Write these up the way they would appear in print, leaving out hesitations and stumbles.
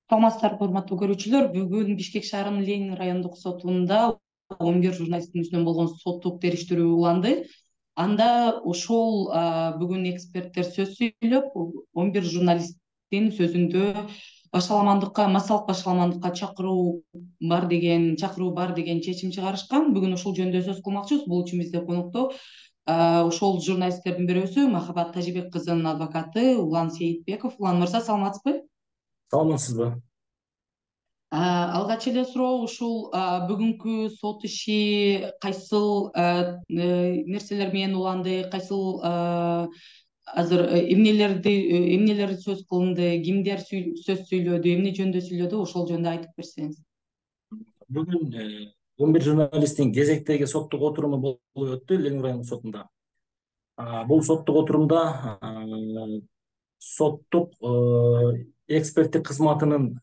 Саламатсыздарбы, урматтуу көрүүчүлөр. Бүгүн Бишкек шаарынын Ленин райондук сотунда 11 журналисттин үстүнөн болгон соттук териштирүү уланды. Анда ошол бүгүн эксперттер сөз сүйлөп, 11 журналисттин сөзүндө массалык башаламандыкка чакыруу бар деген чечим чыгарышкан. Бүгүн ушул жөнүндө сөз кылмакчыбыз. Бул үчүн бизде конокто ошол журналисттердин бирөөсү Махабат Тажибек кызынын адвокаты Улан Сейитбеков. Улан мырза, саламатсызбы? Саламатсызбы? Алгач эле суроо, ушул бүгүнкү сот иши кайсыл нерселер менен уланды, кайсыл азыр эмнелер сөз кылынды, кимдер сөз сүйлөдү, эмне жөнүндө сүйлөдү, ошол жөнүндө айтып берсеңиз. Бүгүн 11 журналисттин кезектеги соттук отуруму болуп өттү Ленин райондук сотунда. Бул соттук отурумда соттук эксперттик кызматынын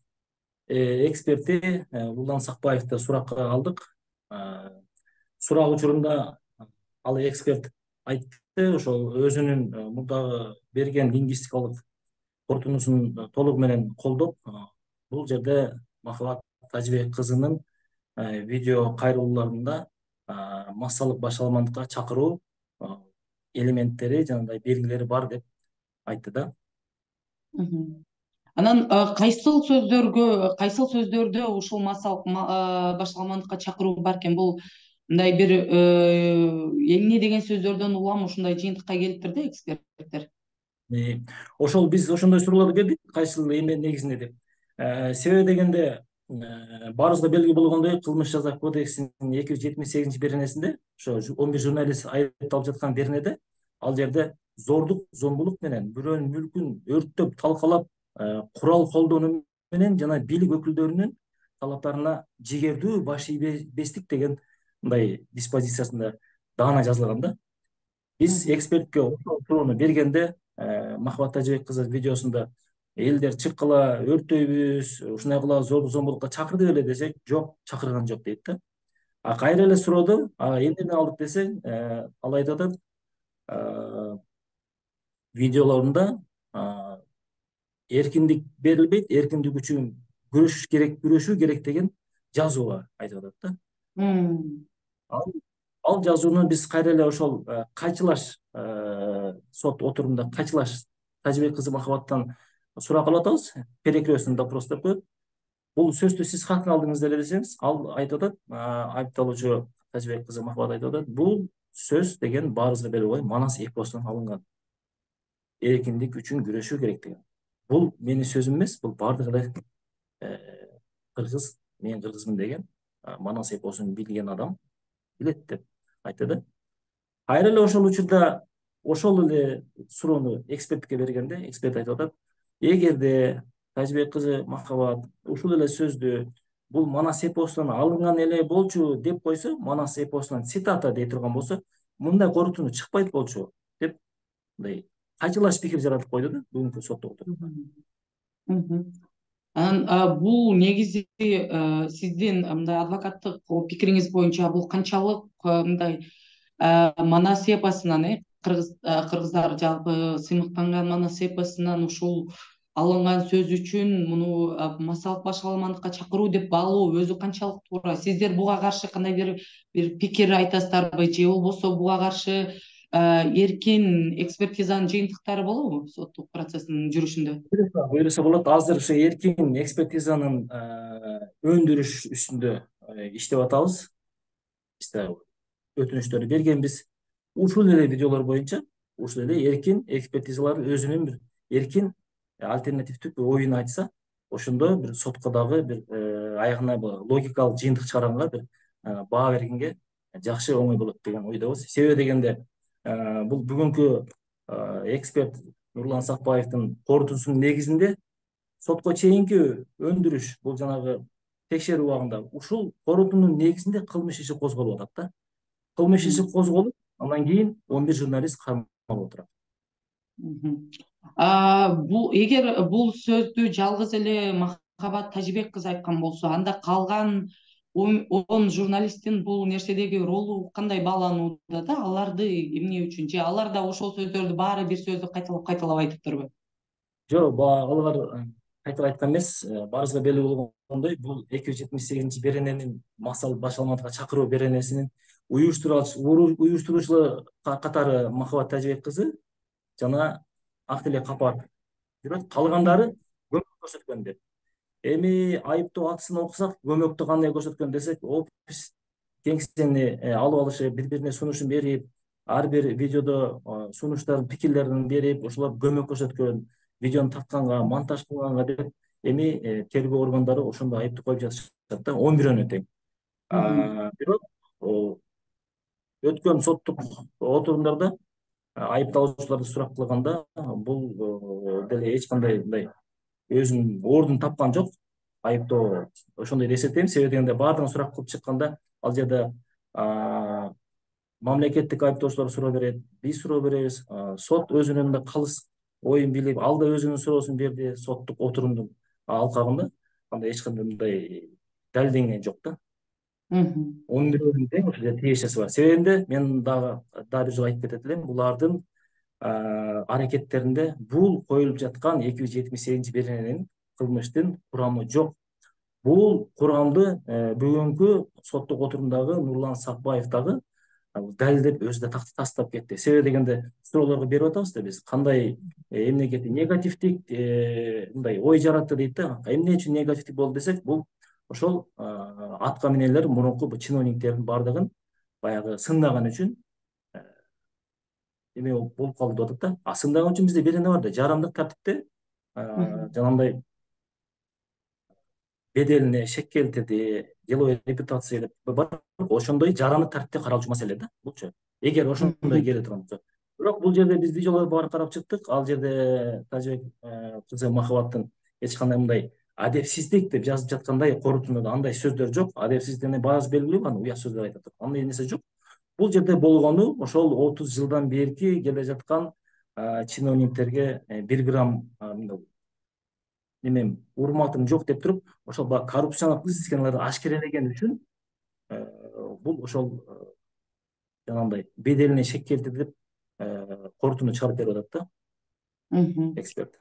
эксперти Улан Сакбаевди суракка алдык. Сурак учурунда ал эксперт айтты, ошол өзүнүн мурдагы берген лингвистикалык корутундусун толугу менен колдоп, бул жерде Махабат Тажибек кызынын видео кайрылууларында массалык башаламандыкка чакыруу элементтери жанагындай белгилери бар деп айтты да. Анан кайсыл сөздөрдө ушул массалык башаламандыкка чакыруу бар экен? Бул мындай бир эмне деген сөздөрдөн улам ушундай жыйынтыкка келиптир да эксперттер. Ошол биз ошондой суроолорду бердик, кайсыл эме негизинде деп. Себеби дегенде баарыбызга белгилүү болгондой, Кылмыш жаза кодексинин 278 беренесинде ошо 11 журналист айыпталып жаткан беренеде ал жерде зордук, зомбулук менен бирөөнүн мүлкүн өрттөп, талкалап, курал колдонуу менен жана бийлик өкүлдөрүнүн талаптарына жигердүү баш ийбестик деген мындай диспозициясында даана жазылган да. Биз экспертке ошол суроону бергенде Махабат Тажибек кызы видеосунда элдер чыккыла, өрттөйбүз, ушундай кыла, зордук зомбулукка чакырды беле десек, жок, чакырган жок дейт да. Кайра эле суроодо эмнеден алдык десең, ал айтып атат, видеолорунда эркиндик берилбейт, эркиндик үчүн күрөшүү керек деген жазуу бар, айтып атат да. Ал жазууну биз кайра эле ошол кайчылаш сот отурумунда кайчылаш Тажибек кызы Махабаттан сурак алып атабыз, перекрестный допрос деп коет. Бул сөздү сиз кантип алдыңыз деле десеңиз, ал айтып атат, айыпталуучу Тажибек кызы Махабат айтып атат, бул сөз деген баарыбызга белгилүү Манас эпосунан алынган. Эркиндик үчүн күрөшүү керек деген. Бул менин сөзүм эмес, бул баардык эле кыргыз, мен кыргызмын деген Манас эпосун билген адам билет деп айтты да. Кайра эле ошол учурда ошол эле суроону экспертке бергенде, эксперт айтып атат, эгерде Тажибек кызы Махабат ушул эле сөздү бул Манас эпосунан алынган эле болчу деп койсо, Манас эпосунан цитата дей турган болсо, мындай корутунду чыкпайт болчу деп мындай кайчылаш пикир жаратып койду да бүгүнкү соттук отурумда. Анан бул негизи сиздин мындай адвокаттык пикириңиз боюнча бул канчалык мындай Манас эпосунан, кыргыздар жалпы сыймыктанган Манас эпосунан ушул алынган сөз үчүн муну массалык башаламандыкка чакыруу деп баалоо өзү канчалык туура? Сиздер буга каршы кандайдыр бир пикир айтасыздарбы, же болбосо буга каршы эркин экспертизанын жыйынтыктары болобу соттук процесстин жүрүшүндө? Буюрса болот. Азыр ушу эркин экспертизанын өндүрүш үстүндө иштеп атабыз. Биз да өтүнүчтөрдү бергенбиз. Ушул эле видеолор боюнча ушул эле эркин экспертизалар өзүнүн бир эркин альтернативдүү оюн айтса, ошондо бир сотко дагы бир аягына логикалык жыйынтык чыгаранга бир баа бергенге жакшы, оңой болот деген ойдобуз. Себеби дегенде бул бүгүнкү эксперт Нурлан Сакбаевдин корутуусунун негизинде сотко чейинки өндүрүш, бул жанагы текшерүү убагында ушул корутуунун негизинде кылмыш иши козголуп атат да. Кылмыш иши козголуп, андан кийин 11 журналист камалып отурат. Эгер бул сөздү жалгыз эле Махабат Тажибек кызы айткан болсо, анда калган 10 журналисттин бул нерседеги ролу кандай бааланууда да? Аларды эмне үчүн? Же алар да ошол сөздөрдү баары бир сөздү кайталап айтыптырбы? Жок, алар кайтып айткан эмес, баарыбызга белгилүү болгондой, бул 278 берененин Максат Башалматовго чакыруу беренесинин уюштуруучулары катары Махабат Тажыбек кызы жана Актилек Капаров жүрөт. Калгандары көмөк көрсөткөн деп. Эми айыптоо актысын окусак, көмөктү кандай көрсөткөн десек, опис кеңсени алып алышып, бири-бирине сунушун берип, ар бир видеодо сунуштарын, пикирлерин берип, ошолор көмөк көрсөткөн, видеону тартканга, монтаж кылганга деп эми тергөө органдары ошондо айыпты коюп жатышат да, 11 тең. Бирок өткөн соттук отурумдарда айыпталуучуларды сурап кылганда, бул деле эч кандай мындай өзүнүн ордун тапкан жок. Айыптоо ошондой деп эсептейм. Себеби дегенде баардыгын сурап кылып чыкканда, ал жерде мамлекеттик айыптоочулар суроо берет, биз суроо беребиз, сот өзүнүн да калыс оюн билип, ал да өзүнүн суроосун берди соттук отурумдун алкагында. Андай эч кандай мындай далилденген жок да. 11 тең ошо жерде тиешеси бар. Себебинде мен дагы бир жолу айтып кетет элем, булардын аракеттеринде бул коюлуп жаткан 278 берененин кылмыштын курамы жок. Бул курамды бүгүнкү соттук отурумдагы Нурлан Сакбаев дагы далилдеп өзү да тастап кетти. Себеби дегенде суроолорго берип атабыз да биз, кандай эмнеге негативдик мындай ой жаратты дейт да. Эмне үчүн негативдик болду десек, бул ошол атка минелер мурунку чиновниктердин баардыгын баягы сындаган үчүн эме болуп калды деп атат да. Сындаган үчүн бизде берене бар да, жарандык тартипте жанагындай беделине шек келтирди, деловой репутация деп бар. Ошондой жарандык тартипте каралчу маселе да булчу. Эгер ошондой келе турган болсо. Бирок бул жерде биз видеолорду баарын карап чыктык. Ал жерде Тажыбек кызы Махабаттын эч кандай мындай адепсиздик деп жазып жаткандай корутундуда андай сөздөр жок. Адепсиздик баасы белгилүү, анан уят сөздөр айтат. Андай нерсе жок. Бул жерде болгону ошол 30 жылдан берки келе жаткан чиновниктерге 1 грамм немем урматым жок деп туруп, ошол коррупциялык схемаларды ашкерелеген үчүн бул ошол жанагындай беделине шек келтирди деп корутунду чыгарып берип атат да эксперт.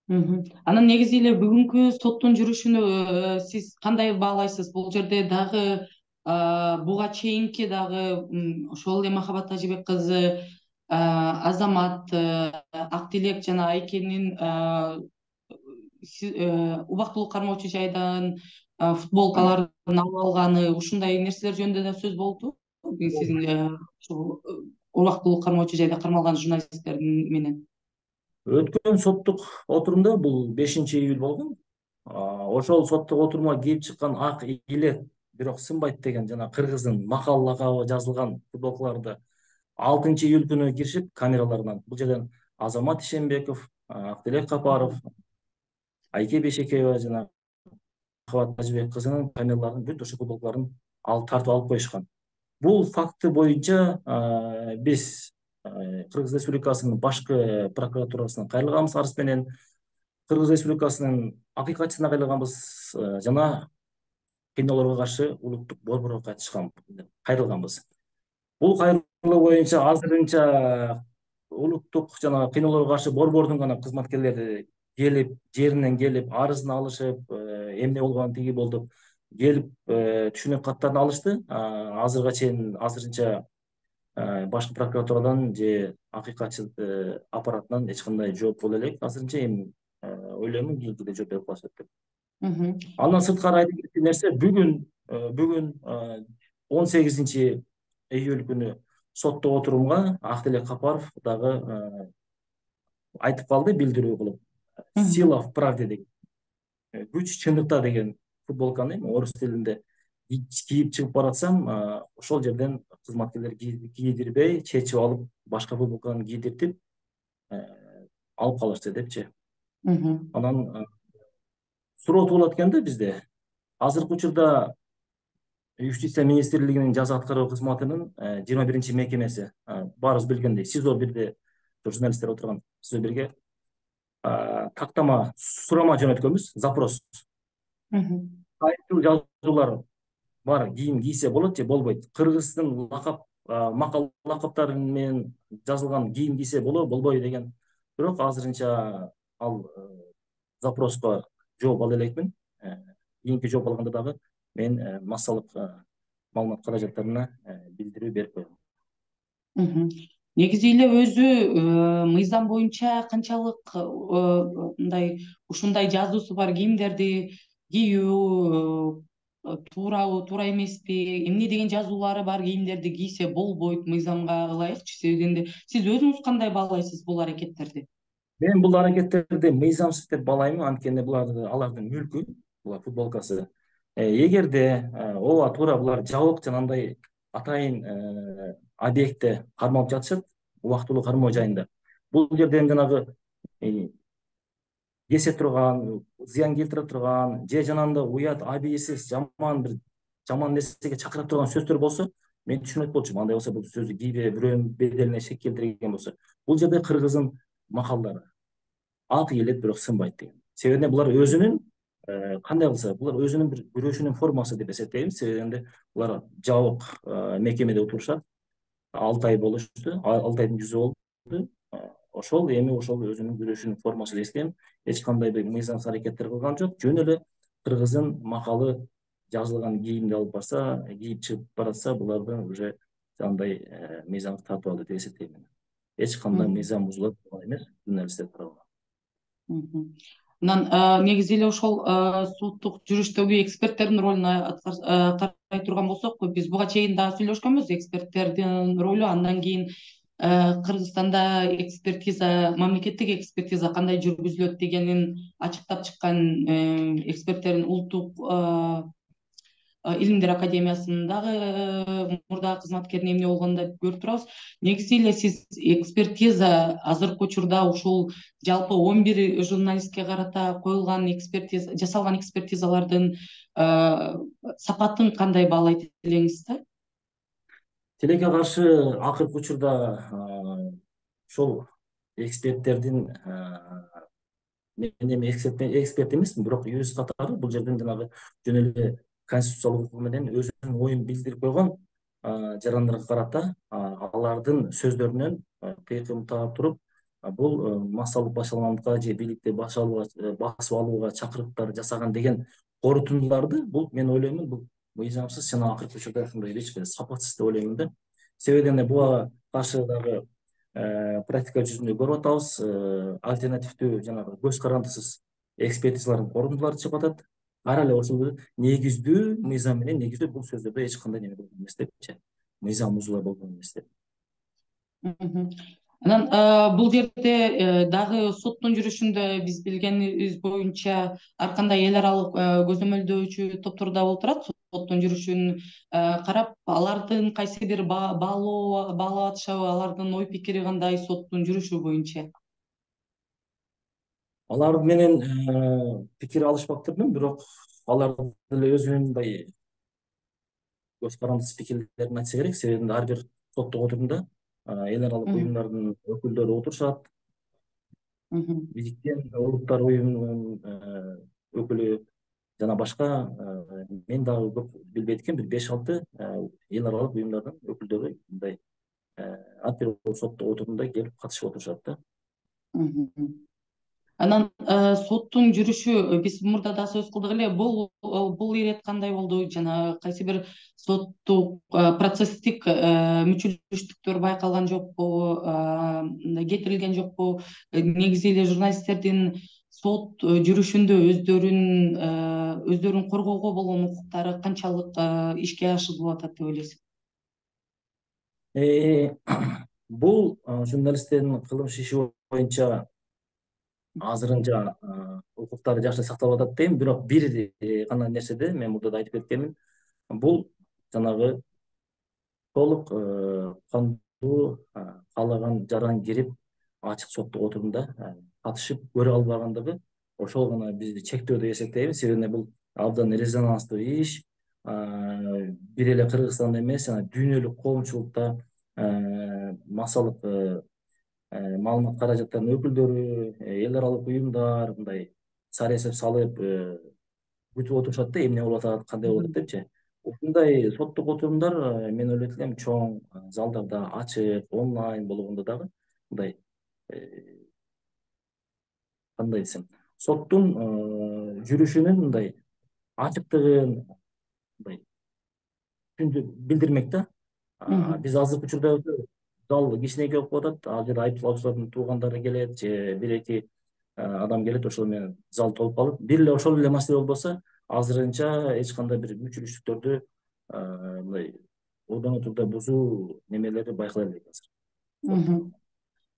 Анан негизи эле бүгүнкү соттун жүрүшүнө сиз кандай баалайсыз? Бул жерде дагы буга чейинки дагы ошол эле Махабат Тажыбек кызы, Азамат, Актилек жана Айкенин убактылуу кармоочу жайдан футболкаларын алып алганы, ушундай нерселер жөнүндө да сөз болду. Сиздин ушул убактылуу кармоочу жайда кармалган журналисттердин менен. Өткөн соттук отурумда, бул 5-июль болгон. Ошол соттук отурумга кийип чыккан ак илет, бирок сынбайт деген жана кыргыздын макал лакабы жазылган футболкаларды 6-июль күнү киришип камераларынан, бул жерден Азамат Ишенбеков, Актилек Капаров, Айке Бешекеева жана Махабат Тажыбек кызынын камераларын бүт ошол футболкаларын тартып алып коюшкан. Бул факты боюнча биз Кыргыз Республикасынын башкы прокуратурасына кайрылганбыз арыз менен, Кыргыз Республикасынын акыйкатчысына кайрылганбыз жана кыйноолорго каршы улуттук борборго кайрылганбыз. Бул кайрылуу боюнча азырынча улуттук жана кыйноолорго каршы борбордун гана кызматкерлери келип, жеринен келип, арызын алышып, эмне болгон тиги болду келип түшүнүк каттарын алышты. Азырга чейин азырынча башкы прокуратурадан же акыйкатчы аппаратынан эч кандай жооп боло элек. Азырынча эми ойлоймун кийинкиде жооп берип калышат деп. Андан сырткары айтып кеткен нерсе, бүгүн 18-июль күнү соттук отурумга Актилек Капаров дагы айтып калды, билдирүү кылып. Сила в правде деген, күч чындыкта деген футболканы орус тилинде кийип чыгып баратсам, ошол жерден кызматкерлер кийдирбей, чечип алып, башка футболканы кийдиртип алып калышты депчи. Анан суроо туулат экен да бизде. Азыркы учурда Юстиция министрлигинин жаза аткаруу кызматынын 21-чи мекемеси, баарыбыз билгендей, СИЗО 1де журналисттер отурган СИЗО 1ге тактама сурама жөнөткөнбүз, запрос. Кайсыл жазуулар бар, кийим кийсе болот же болбойт. Кыргыздын макал лакаптары менен жазылган кийим кийсе болобу, болбойбу деген. Бирок азырынча ал запроско жооп ала элекмин. Кийинки жооп алганда дагы мен массалык маалымат каражаттарына билдирүү берип койгом. Негизи эле өзү мыйзам боюнча канчалык мындай ушундай жазуусу бар кийимдерди кийүү туурабы, туура эмеспи, эмне деген жазуулары бар кийимдерди кийсе болбойт мыйзамга ылайыкчы? Себеби дегенде сиз өзүңүз кандай баалайсыз бул аракеттерди? Мен бул аракеттерди мыйзамсыз деп баалайм, анткени алардын мүлкү, булар футболкасы. Эгерде ооба туура булар жабык жана андай атайын объектте кармалып жатышат, убактылуу кармоо жайында. Бул жерден жанагы кесе турган, зыян келтире турган, же жанагындай уят, абийирсиз, жаман нерсеге чакыра турган сөздөр болсо, мен түшүнөт болчумун. Андай болсо бул сөздү кийбей бирөөнүн беделине шек келтирген болсо, бул жерде кыргыздын макалдары аты келет, бирок сынбайт деген. Себеби булар өзүнүн кандай кылса, булар өзүнүн бир күрөшүнүн формасы деп эсептейм. Себеби булар жабык мекемеде отурушат. 6 ай болушту, 6 айдын жүзү болду. Ошол эми ошол өзүнүн күрөшүнүн формасы деп эсептейм. Эч кандай бир мыйзамсыз аракеттер кылган жок. Жөн эле кыргыздын макалы жазылган кийимди алып барса, кийип чыгып баратса, буларды уже андай мыйзамды тартып алды деп эсептейм. Эч кандай мыйзам бузулат эмес журналисттер тарабынан. Анан негизи эле ошол соттук жүрүштөгү эксперттердин ролун карай турган болсок, биз буга чейин дагы сүйлөшкөнбүз. Эксперттердин ролу, андан кийин Кыргызстанда экспертиза, мамлекеттик экспертиза кандай жүргүзүлөт дегенин ачыктап чыккан эксперттердин улуттук илимдер академиясындагы мурдагы кызматкеринин эмне болгонун да көрүп турабыз. Негизи эле сиз экспертиза азыркы учурда ушул жалпы 11 журналистке карата коюлган экспертиза, жасалган экспертизалардын сапатын кандай баалайт элеңиз да? Тилекке каршы акыркы учурда ошол эксперттердин мен эми эксперт эмесмин, бирок юрист катары бул жерден жанагы жөн эле конституциялык укугу менен өзүнүн оюн билдирип койгон жарандарга карата алардын сөздөрүнөн тыйкым таап туруп, бул массалык башаламалыкка же бийликти басып алууга чакырыктар жасаган деген корутундуларды бул мен ойлоймун, бул мыйзамсыз жана акыркы учурда ушундай эч бир сапатсыз деп ойлоймун да. Себеби буга каршы дагы практика жүзүндө көрүп атабыз, альтернативдүү жанагы көз карандысыз экспертизалардын корутундулары чыгып атат. Ар эле ошол негиздүү мыйзам менен негиздүү бул сөздөрдө эч кандай неме болгон эмес депчи, мыйзам бузуулар болгон эмес деп. Анан бул жерде дагы соттун жүрүшүндө биз билгенибиз боюнча ар кандай эл аралык көзөмөлдөөчү топтор да болуп турат. Соттун жүрүшүн карап, алардын кайсы бир баалап атышабы, алардын ой пикири кандай соттун жүрүшү боюнча? Алар менен пикир алышпаптырмын, бирок алар деле өзүнүн мындай көз карандысыз пикирлерин айтса керек. Себеби ар бир соттук отурумда эл аралык уюмдардын өкүлдөрү отурушат. Бириктен улуттар уюмунун өкүлү жана башка мен дагы көп билбейт экенмин, бир 5-6 эл аралык уюмдардын өкүлдөрү мындай ар бир соттук отурумда келип катышып отурушат да. Анан соттун жүрүшү, биз мурда да сөз кылдык эле, бул ирет кандай болду? Жана кайсы бир соттук процесстик мүчүлүштүктөр байкалган жокпу, кетирилген жокпу? Негизи эле журналисттердин сот жүрүшүндө өздөрүн коргоого болгон укуктары канчалык ишке ашырылып атат деп ойлойсуз? Бул журналисттердин кылмыш иши боюнча азырынча укуктары жакшы сакталып атат дейм, бирок бир гана нерседе мен мурда да айтып кеткенмин, бул жанагы толук кандуу каалаган жаран кирип ачык соттук отурумда катышып көрө албагандыгы, ошол гана бизди чектөө деп эсептейбиз. Себеби бул абдан резонанстуу иш, бир эле Кыргызстанда эмес, дүйнөлүк коомчулукта массалык маалымат каражаттарынын өкүлдөрү, эл аралык уюмдар мындай сары эсеп салып күтүп отурушат да, эмне болуп атат, кандай болуп атат депчи. Ушундай соттук отурумдар мен ойлойт элем чоң залдарда, ачык, онлайн болгондо дагы мындай кандай десем, соттун жүрүшүнүн мындай ачыктыгын мындай билдирмек да. Биз азыркы учурда зал кичинекей болуп атат. Ал жерде айыпталуучулардын туугандары келет же бир эки адам келет, ошол менен зал толуп калат. Бир эле ошол эле маселе болбосо азырынча эч кандай бир мүчүлүштүктөрдү мындай ордон турда бузуу немелери байкала элек азыр.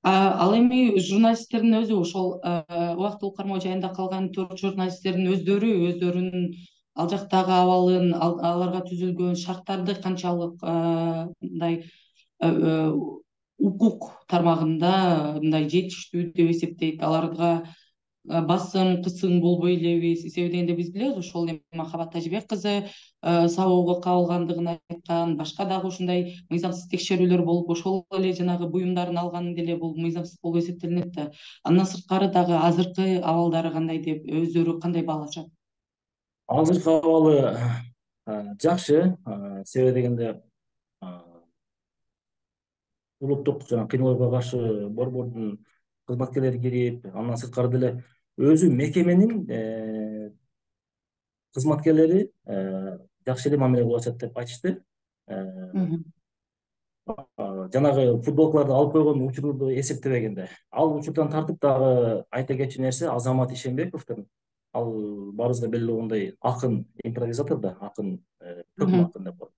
Ал эми журналисттердин өзү ошол убактылуу кармоо жайында калган 4 журналисттердин өздөрүнүн ал жактагы абалын, аларга түзүлгөн шарттарды канчалык мындай укук тармагында мындай жетиштүү деп эсептейт, аларга басым кысым болбой элеби? Себеби дегенде биз билебиз, ошол эми Махабат Тажибек кызы сабоого кабылгандыгын айткан, башка дагы ушундай мыйзамсыз текшерүүлөр болуп, ошол эле жанагы буюмдарын алганы деле бул мыйзамсыз болуп эсептелинет да. Андан сырткары дагы азыркы абалдары кандай деп өздөрү кандай баалашат? Азыркы абалы жакшы, себеби дегенде улуттук жана кыйноолорго каршы борбордун кызматкерлери кирип, андан сырткары деле өзү мекеменин кызматкерлери жакшы эле мамиле кылып атышат деп айтышты. Жанагы футболкаларды алып койгон учурду эсептебегенде, ал учурдан тартып дагы айта кетчү нерсе Азамат Ишенбековдун, ал баарыбызга белгилүү болгондой акын, импровизатор да, акын, көкмө акын деп коет.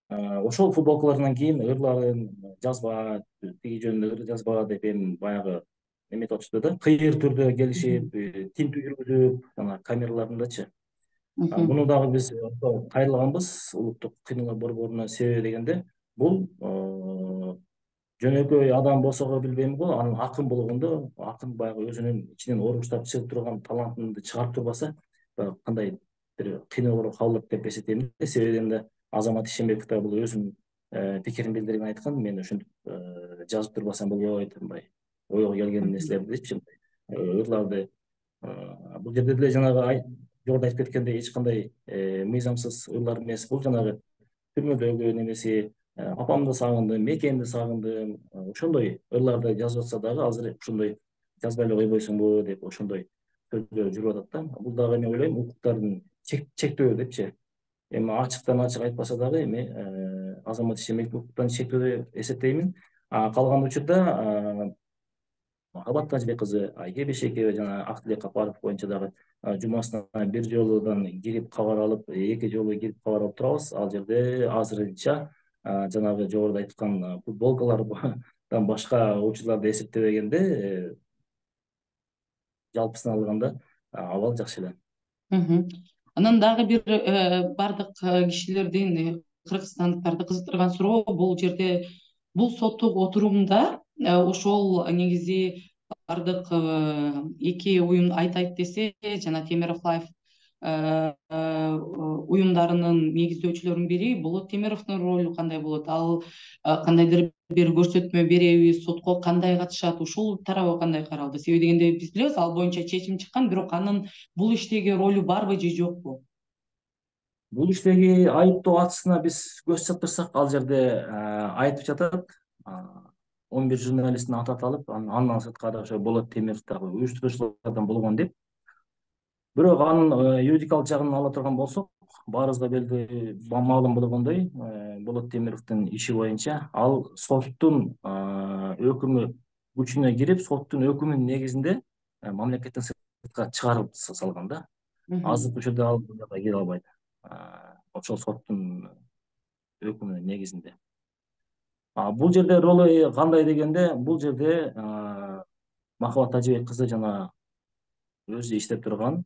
Ошол футболкалардан кийин ырларын жазба, тиги жөнүндө жазба деп эми баягы эметип атышты да, кыйыр түрдө келишип, тинтүү жүргүзүп, жана камералардындачы. Муну дагы биз кайрылганбыз улуттук кыйноолор борборуна. Себеби дегенде бул жөнөкөй адам болсо билбейм го, анын акын болгондо, акын баягы өзүнүн ичинен оруштап чыгып турган талантынды чыгарып турбаса, кандай бир кыйноолорго кабылат деп эсептейм. Себеби дегенде Азамат Ишенбеков да бул өзүнүн пикирин билдирген, айткан, мен ушинтип жазып турбасам болбойт, мындай ойго келген нерселердичи, ырларды. Бул жерде деле жанагы жогоруда айтып кеткендей эч кандай мыйзамсыз ырлар эмес. Бул жанагы түрмөдөгү немеси, апамды сагындым, мекемди сагындым, ошондой ырларды жазып атса дагы азыр ошондой жазбай эле койбойсуңбу деп ошондой сөздөр жүрүп атат да. Бул дагы мен ойлойм укуктардын чектөө депчи. Эми ачыктан ачык айтпаса дагы эми Азамат Ишенбеков укуктан чектөө деп эсептеймин. Калган учурда Махабат Тажибек кызы, Айке Бешекеева жана Актилек Капаров боюнча дагы жумасына бир жолудан кирип кабар алып, эки жолу кирип кабар алып турабыз. Ал жерде азырынча жанагы жогоруда айткан футболкалардан башка учурларды эсептебегенде, жалпысына алганда абал жакшы эле. Анан дагы бир бардык кишилердин, кыргызстандыктарды кызыктырган суроо, бул жерде, бул соттук отурумда ошол негизи бардык эки уюм айтайт десе, жана Темиров Лайф уюмдарынын негиздөөчүлөрүнүн бири Болот Темировдун ролу кандай болот? Ал кандайдыр бир көрсөтмө береби, сотко кандай катышат? Ушул тарабы кандай каралды? Себеби дегенде биз билебиз, ал боюнча чечим чыккан, бирок анын бул иштеги ролу барбы же жокпу? Бул иштеги айыптоо актысына биз көз чаптырсак, ал жерде айтып жатат, 11 журналисттин аты аталып, андан сырткары ошо Болот Темиров дагы уюштуруучулардан болгон деп. Бирок анын юридикалык жагын ала турган болсок, баарыбызга белгилүү, маалым болгондой, Болот Темировдун иши боюнча ал соттун өкүмү күчүнө кирип, соттун өкүмүнүн негизинде мамлекеттен сыртка чыгарып салган да. Азыркы учурда ал кире албайт. Ошол соттун өкүмүнүн негизинде. Бул жерде ролу кандай дегенде, бул жерде Махабат Тажибек кызы жана өзү иштеп турган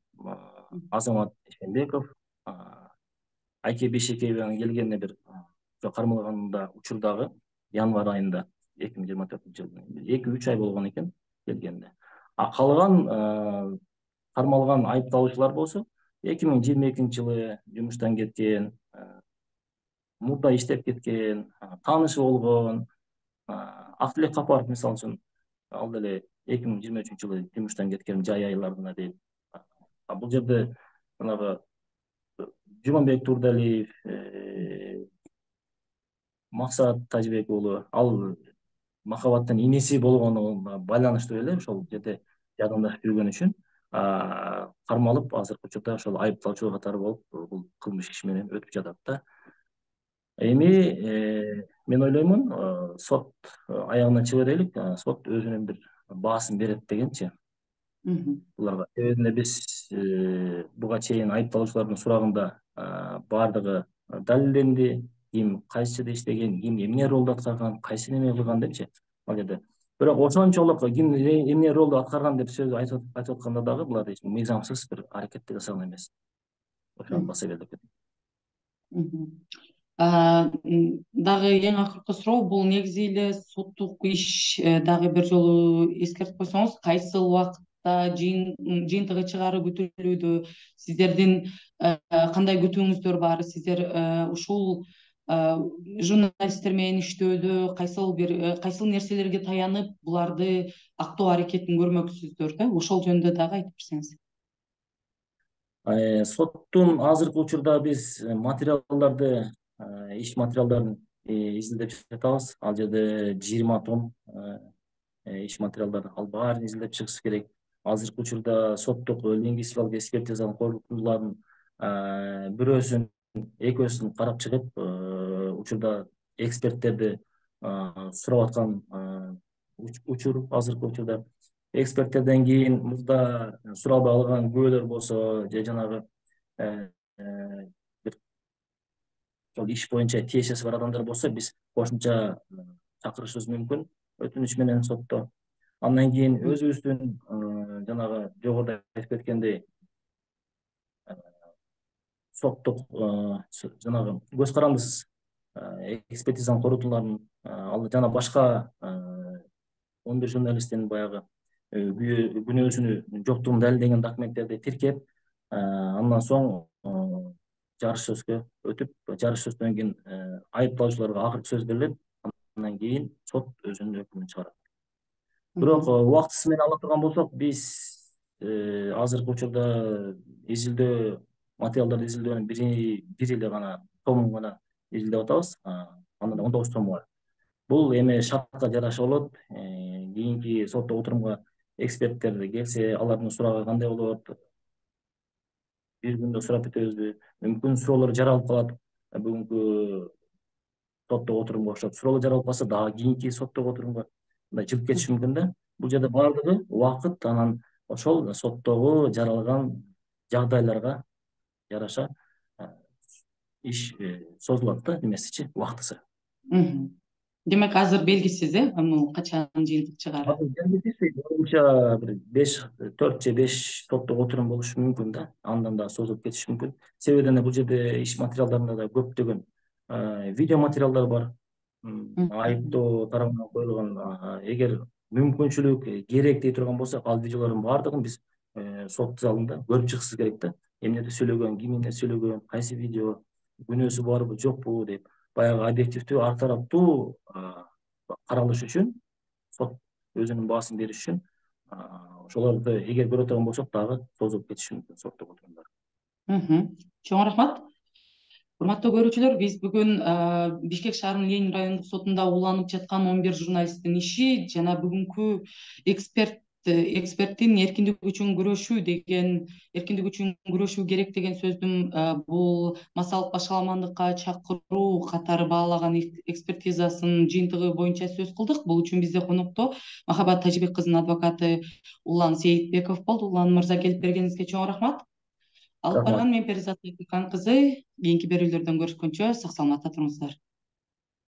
Азамат Ишенбеков, Айке Бешекееванын келгенине бир кармалганда учурдагы январь айында 2024-жылы 2-3 ай болгон экен келгенине. Калган кармалган айыпталуучулар болсо 2022-жылы жумуштан кеткен, мурда иштеп кеткен, таанышы болгон. Актилек Капаров мисалы үчүн ал деле 2023-жылы жумуштан кеткен жай айларына дейт. Бул жерде жанагы Жуманбек Турдалиев, Максат Тажибек уулу, ал Махабаттын инеси болгонуна байланыштуу эле ошол жерде жардамдашып жүргөн үчүн кармалып, азыркы учурда ошол айыпталуучу катары болуп бул кылмыш иши менен өтүп жатат да. Эми мен ойлоймун, сот аягына чыга берелик, сот өзүнүн бир баасын берет дегенчи буларга. Себебинде биз буга чейин айыпталуучулардын сурагында баардыгы далилденди, ким кайсы жерде иштеген, ким эмне ролду аткарган, кайсы неме кылган депчи ал жерде. Бирок ошончолук ким эмне ролду аткарган деп сөз айтып атканда дагы булар мыйзамсыз бир аракетти жасаган эмес. Ошону баса берилип дагы эң акыркы суроо, бул негизи эле соттук иш. Дагы бир жолу эскертип койсоңуз, кайсы убакытта жыйынтыгы чыгаары күтүлүүдө, сиздердин кандай күтүүңүздөр бар? Сиздер ушул журналисттер менен иштөөдө кайсыл нерселерге таянып буларды актоо аракетин көрмөксүздөр да? Ошол жөнүндө дагы айтып берсеңиз. Соттун азыркы учурда биз материалдарды, иш материалдарын изилдеп жатабыз. Ал жерде 20 том иш материалдар, ал баарын изилдеп чыгыш керек. Азыркы учурда соттук лингвистикалык экспертизанын корутундуларын бирөөсүн, экөөсүн карап чыгып, учурда эксперттерди сурап аткан учур азыркы учурда. Эксперттерден кийин мурда суралбай алган күбөлөр болсо, же жанагы бир ошол иш боюнча тиешеси бар адамдар болсо, биз кошумча чакырышыбыз мүмкүн өтүнүч менен сотто. Андан кийин өзүбүздүн жанагы жогоруда айтып кеткендей соттук жанагы көз карандысыз экспертизанын корутууларын ал жана башка 11 журналисттин баягы күнөөсүнүн жоктугун далилдеген документтерди тиркеп, андан соң жарыш сөзгө өтүп, жарыш сөздөн кийин айыпталуучуларга акыркы сөз берилет, андан кийин сот өзүнүн өкүмүн чыгарат. Бирок убактысы менен ала турган болсок, биз азыркы учурда изилдөө материалдарды изилдөөнүн бир эле гана томун гана изилдеп атабыз. Андан 19 тому бар. Бул эми шартка жараша болот. Кийинки соттук отурумга эксперттер келсе, алардын сурагы кандай болот? Бир күндө сурап бүтөбүзбү? Мүмкүн суроолор жаралып калат. Бүгүнкү соттук отурумга окшоп суроолор жаралып калса, дагы кийинки соттук отурумга мындай жылып кетиши мүмкүн да. Бул жерде баардыгы убакыт, анан ошол соттогу жаралган жагдайларга жараша иш созулат да, немесичи, убактысы. Демек азыр белгисиз, качан жыйынтык чыгаары? Боюнча бир 4 же 5 соттук отурум болушу мүмкүн да. Андан да созулуп кетиши мүмкүн. Себебинде бул жерде иш материалдарында да көптөгөн видео материалдар бар. Айыптоо тарабынан коюлган, эгер мүмкүнчүлүк керек дей турган болсок, ал видеолордун баардыгын биз сот залында көрүп чыксыбыз керек да. Эмнеде сөйлөгөн, ким эмне сөйлөгөн, кайсы видео, күнөөсү барбы, жокпу деп баягы объективдүү, ар тараптуу каралыш үчүн, сот өзүнүн баасын бериш үчүн ошолорду эгер көрө турган болсок, дагы созулуп кетиши мүмкүн соттук отурумдар. Чоң рахмат. Урматтуу көрүүчүлөр, биз бүгүн Бишкек шаарынын Ленин райондук сотунда уланып жаткан 11 журналисттин иши жана бүгүнкү эксперттин эркиндик үчүн күрөшүү керек деген сөздүн бул массалык башаламандыкка чакыруу катары баалаган экспертизасынын жыйынтыгы боюнча сөз кылдык. Бул үчүн бизде конокто Махабат Тажибек кызынын адвокаты Улан Сейитбеков болду. Улан мырза, келип бергениңизге чоң рахмат. Алып барган мен Перизат Айкан кызы. Кийинки берүүлөрдөн көрүшкөнчө сак саламатта туруңуздар.